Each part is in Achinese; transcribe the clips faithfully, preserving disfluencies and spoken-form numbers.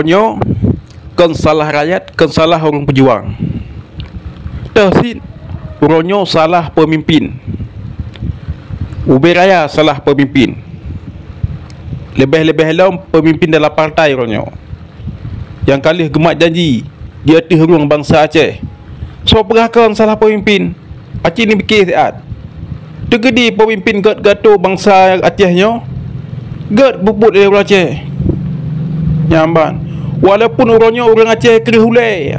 Nyoe kon salah rakyat, kon salah ureuëng peujuang. Teuh cit, uroe nyoe salah peumimpin. Ubé raya salah peumimpin. Leubeh-leubeh lom peumimpin dalam partai uroe nyoe. Nyang ka lheueh geumat janji di ateueh rueng bansa Aceh. Soe peugah kon salah peumimpin? Aci neupike siat. Teukeudi peumimpin gét gato bansa Aceh nyoe, gét bubuet lé ureuëng Aceh. Nyan ban, walaupun uroe nyoe ureuëng Aceh kreueh ulée,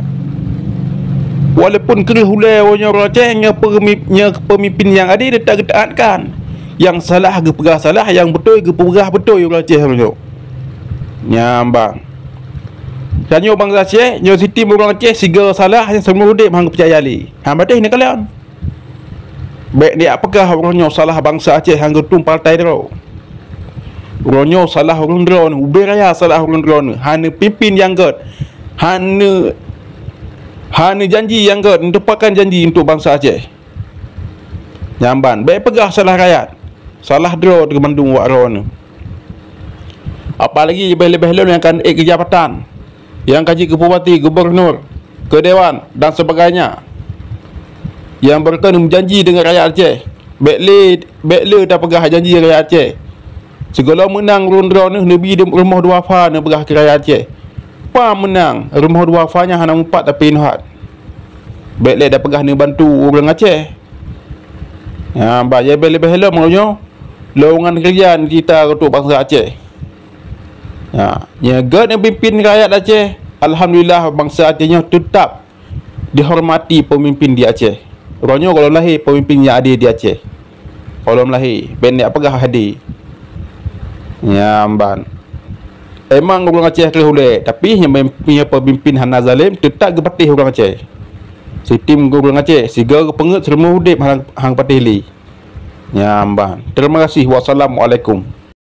walaupun kreueh ulée uroe nyoe ureuëng Aceh, nyoe peumi-, nyoe peumimpin nyang adé teutap geutaatkan. Nyang salah geupeugah salah, nyang beutôi geupeugah beutôi ureuëng Aceh uroe nyoe. Nyan ban. Tanyoe bansa Aceh, nyoe sitim ureuëng Aceh sigoe salah nyang seumeu udeb han geupeucaya lé. Han patéh neukalon. Bék neujak peugah uroe nyoe salah bansa Aceh han geutueng partai droe. Uroe nyoe salah ureuëng droeneuh, ubé raya salah ureuëng droeneuh, hana pimpin nyang gét, hana, hana janji nyang gét, neuteupakan janji untuk bansa Aceh. Nyan ban, bék peugah salah rakyat, salah droe teuh mandum wak droeneuh. Apalagi leubeh-leubeh lom nyang ka ék keu jabatan, nyang ka jeuet keu bupati, gubunur, keu dewan dan sebagainya, nyang beureukan meujanji deungon rakyat Aceh. Bék lé, bék lé tapeugah janji rakyat Aceh. Sigohlom meunang ureuëng droeneuh neubi rumoh duafa neupeugah keu rakyat Aceh. Pah meunang, rumoh duafa nyan hana mupat tapi inhat. Bék lé tapeugah neubantu ureuëng Aceh. Ha, bah, leubeh-leubeh lom nyoe lowongan kerja neucebta untuk bansa Aceh. Ha, nyang gét neupimpin rakyat Aceh, alhamdulillah bansa Aceh nyoe teutap dihormati peumimpin di Aceh. Uroe nyoe gohlom lahé peumimpin nyang adé di Aceh. Gohlom lahé, bék neujak peugah adé. Nyan ban. Emang ureuëng Aceh kreueh ulée, tapi nyang peumimpin hana zalem teutap geupatéh ureuëng Aceh. Sitim ureuëng Aceh sigoe geupeungét seumeu udeb han, han patéh lé. Nyan ban. Terima kasih. Wassalamualaikum.